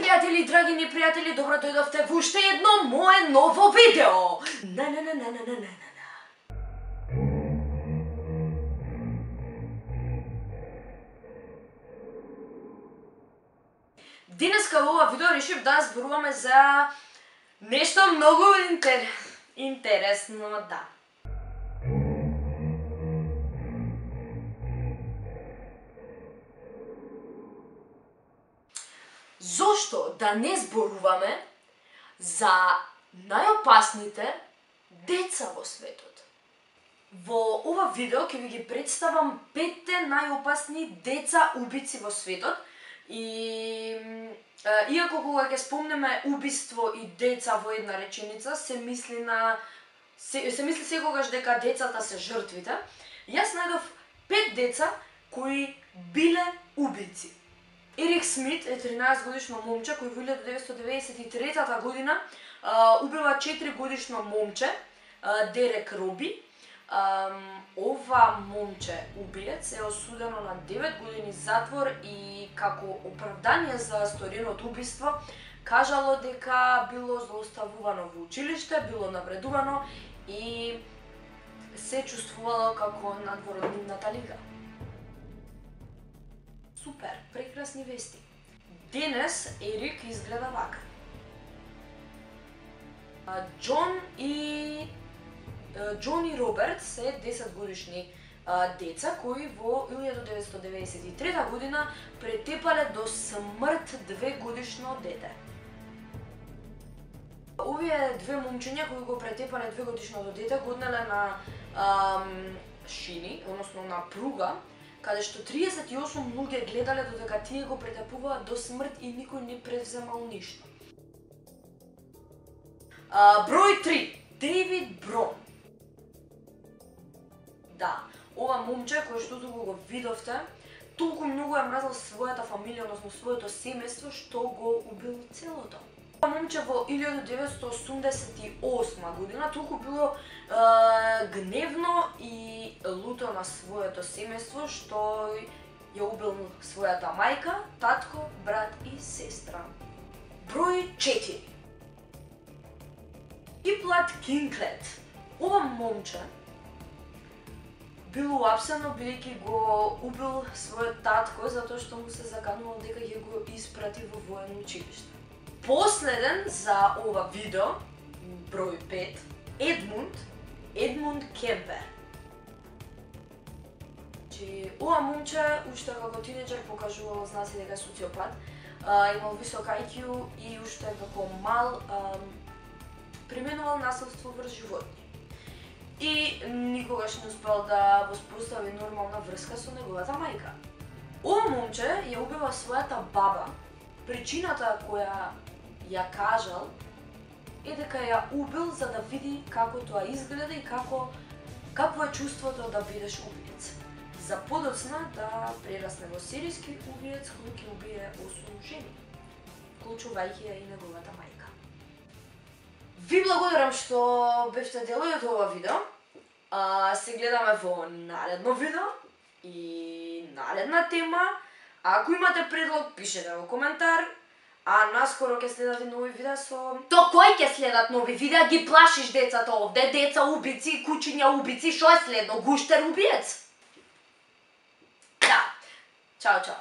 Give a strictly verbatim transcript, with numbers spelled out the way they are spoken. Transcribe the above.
пријатели, драги непријатели, добро дојдовте во уште едно мое ново видео. На на на на на на на. Денеска во ова видео решив да зборуваме за нешто многу интер... интересно, да. Зошто да не зборуваме за најопасните деца во светот? Во ова видео ќе ви ги представам петте најопасни деца убици во светот. И иако кога ќе спомнеме убиство и деца во една реченица, се мисли на се, се мисли секогаш дека децата се жртвите, јас најдов пет деца кои биле убици. Ерик Смит е тринаесет годишно момче кој во илјада деветстотини деветдесет и трета година а, убива четири годишно момче, а, Дерек Роби. А, ова момче убиец е осудено на девет години затвор и како оправдание за сториното убиство кажало дека било злоставувано во училиште, било навредувано и се чувствувало како надвор од нивната лига. Супер, прекрасни вести. Денес Ерик изгледа вака. Џон и Џон и Роберт се десет годишни а, деца кои во илјада деветстотини деветдесет и трета година претепале до смрт две годишно дете. Овие две момчиња кои го претепале две годишното дете го однеле на ам, шини, односно на пруга, каде што триесет и осум луѓе гледале додека тие го претепуваат до смрт и никој не преземал ништо. А, број три. Дейвид Брон. Да, ова момче кој што туку го видовте, толку многу ја мразел својата фамилија, односно своето семејство, што го убил целото. Ова момче во илјада деветстотини осумдесет и осма година толку било е, гневно и луто на своето семејство, што ја убил својата мајка, татко, брат и сестра. Број четири. Иплат Кинклет. Ова момче бил уапсено бидејќи го убил својот татко затоа што му се заканувал дека ќе го испрати во воено училиште. Последен за ова видео, број пет, Едмунд, Едмунд Кемпер. Че ова момче уште како тинеџер покажувал знаци дека е социопат, а, имал висок ај кју и уште како мал а, применувал насилство врз животни. И никогаш не успел да воспостави нормална врска со неговата мајка. Ова момче ја убива својата баба. Причината која ја кажал е дека ја убил за да види како тоа изгледа и како какво е чувството да бидеш убиец. За подоцна да прерасне во серијски убиец кој ќе убие осум жени, вклучувајќи ја и неговата мајка. Ви благодарам што бевте дел од ова видео. А, се гледаме во наредно видео и наредна тема. Ако имате предлог, пишете во коментар. А наскоро ќе следат и нови видеа со... То кој ќе следат нови видеа? Ги плашиш децата овде, деца убици, кучиња убици, шо е следно? Гуштер убиец? Да. Чао, чао.